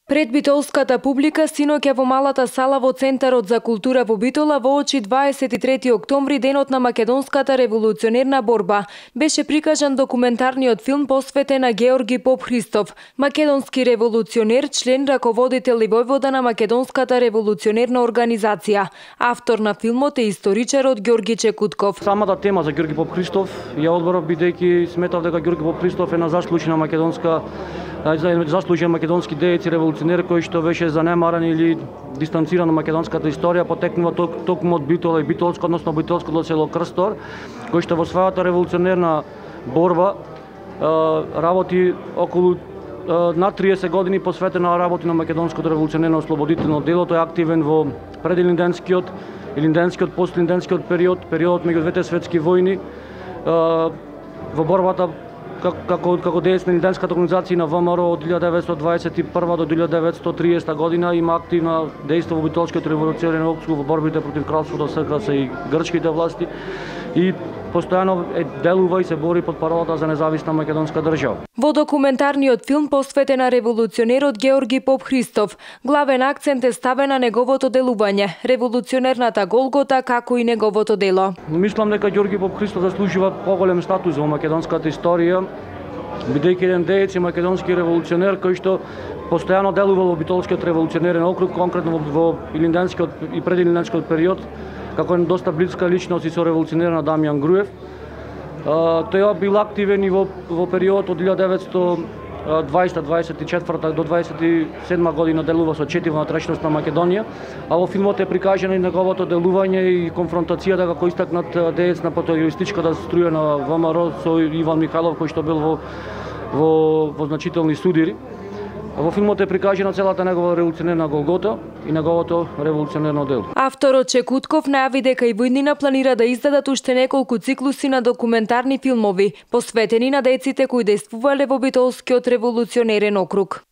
Пред битолската публика синоќа во малата сала во Центарот за култура во Битола воочи 23 октомври, денот на македонската револуционерна борба, беше прикажан документарниот филм посветен на Георги Попхристов, македонски револуционер, член, раководител и војвода на македонската револуционерна организација. Автор на филмот е историчарот Ѓорги Чекутков. Самата тема за Ѓорги Попхристов ја одборав бидејќи сметав дека Ѓорги Попхристов е на заслужена македонски деец и револуционер кој што беше занемарен или дистанциран од македонската историја, потекнува токму од Битола и битолско, односно битолското село Крстор, кој што во својата револуционерна борба работи околу над 30 години посветена работи на македонското револуционерно ослободително дело. Тој е активен во предилинденскиот, илинденскиот, постлинденскиот периодот меѓу двете светски војни, во борбата како деец на илинденската организација на ВМРО од 1921 до 1930 година, има активно дејство во битолскиот револуционерен округ во борбите против кралството СКС и грчките власти и постојано делува и се бори под паролата за независна македонска држава. Во документарниот филм посветен на револуционерот Георги Попхристов, главен акцент е ставен на неговото делување, револуционерната голгота како и неговото дело. Мислам дека Ѓорги Попхристов заслужува поголем статус во македонската историја, бидејќи еден деец и македонски револуционер кој што постојано делувал во битолскиот револуционерен округ, конкретно во илинденскиот и предилинденскиот период, како е доста блиска личност и со револуционерна Дамјан Груев. Тој бил активен и во период од 1920-24 до 27 година делува со четива натрешност на Македонија, а во филмот е прикажано и неговото делување и конфронтацијата како истакнат деец на патриотичката струја на ВМРО со Иван Михайлов, кој што бил во значителни судири. Во филмот е прикажена целата негова револуционерна голгота и неговото револуционерно дело. Авторот Чекутков најави дека и во иднина планира да издадат уште неколку циклуси на документарни филмови, посветени на деците кои дејствувале во битолскиот револуционерен округ.